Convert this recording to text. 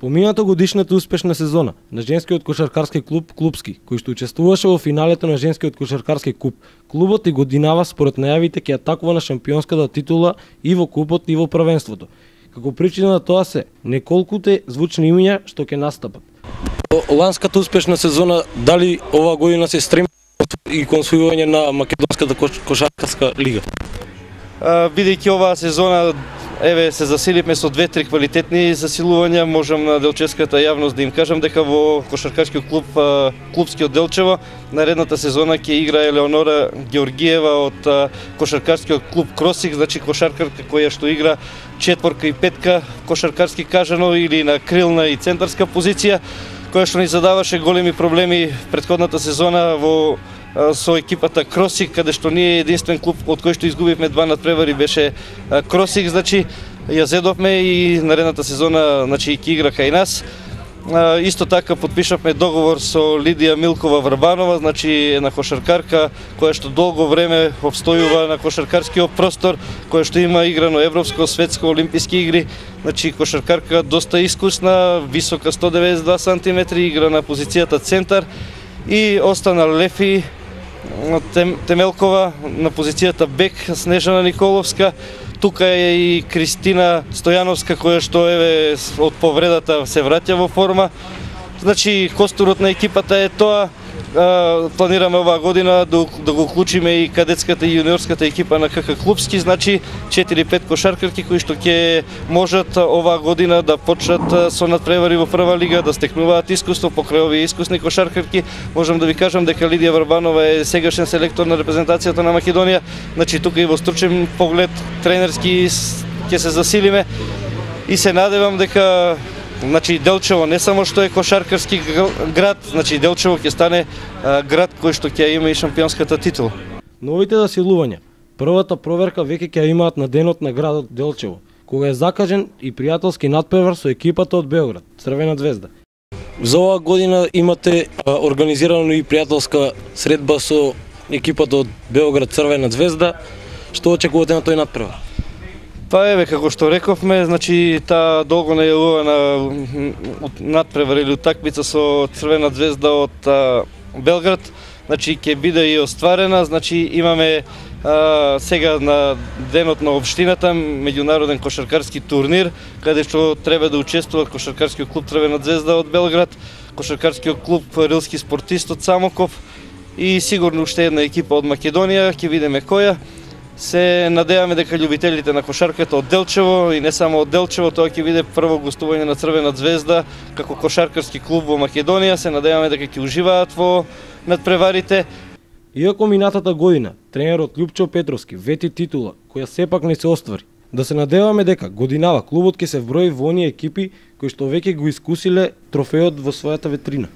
Помината годишната успешна сезона на женскиот кошаркарски клуб Клупски, кој што учествуваше во финалето на женскиот кошаркарски куп, клубот и годинава според најавите ќе атакува на шампионската титула и во купот и во првенството. Како причина на тоа се неколкуте звучни имиња што ќе настапат. Ланската успешна сезона, дали оваа година се стреми и кон освојување на македонската кошаркарска лига? Бидејќи оваа сезона се засиливме со 2-3 квалитетни засилувања, можам на делчевската јавност да им кажам дека во кошаркарскиот клуб Клупски од Делчево наредната сезона ќе игра Елеонора Георгиева од кошаркарскиот клуб Кросик, значи кошаркарка која што игра четворка и петка кошаркарски кажано или на крилна и центарска позиција, која што ни задаваше големи проблеми претходната сезона со екипата Кросик, каде што ние единствен клуб од кој што изгубивме 2 надпревари беше Кросик, значи ја зедовме и наредната сезона значи ќе игра кај нас. Исто така подпишавме договор со Лидија Милкова Врбанова, значи една кошаркарка која што долго време обстојува на кошаркарскиот простор, која што има играно европско, светско, олимписки игри, значи кошаркарка доста искусна, висока 192 см, игра на позицијата центар и остана Лефи Темелкова на позицијата бек, Снежана Николовска. Тука е и Кристина Стојановска која што од повредата се враќа во форма. Значи костурот на екипата е тоа. Планираме оваа година да го уклучиме и кадетската и јуниорската екипа на КК Клупски, значи 4-5 кошаркарки кои што ќе можат оваа година да почнат со надпревари во прва лига, да стекнуваат искуство покрај овие искусни кошаркарки. Можам да ви кажам дека Лидија Врбанова е сегашен селектор на репрезентацијата на Македонија, значи тука и во стручен поглед тренерски ќе се засилиме и се надевам дека значи Делчево не само што е кошаркарски град, значи Делчево ќе стане град кој што ќе има и шампионската титула. Новите засилувања, првата проверка веќе ќе имаат на денот на градот Делчево, кога е закажен и пријателски надпревар со екипата од Белград, Црвена звезда. За оваа година имате организирано и пријателска средба со екипата од Белград, Црвена звезда. Што очекувате на тој надпревар? Како што рековме, значи таа долго најавувана надпревар или утакмица со Црвена звезда од Белград, значи ќе биде и остварена, значи имаме сега на денот на општината меѓународен кошаркарски турнир, каде што треба да учествуваат кошаркарскиот клуб Црвена звезда од Белград, кошаркарскиот клуб Рилски спортист од Самоков и сигурно уште една екипа од Македонија, ќе видиме која. Се надеваме дека љубителите на кошарката од Делчево и не само од Делчево, тоа ќе биде прво гостување на Црвена звезда како кошаркарски клуб во Македонија. Се надеваме дека ќе уживаат во надпреварите. Иако минатата година тренерот Љупчо Петровски вети титула која сепак не се оствари, да се надеваме дека годинава клубот ќе се вброи во оние екипи кои што веќе го искусиле трофеот во својата витрина.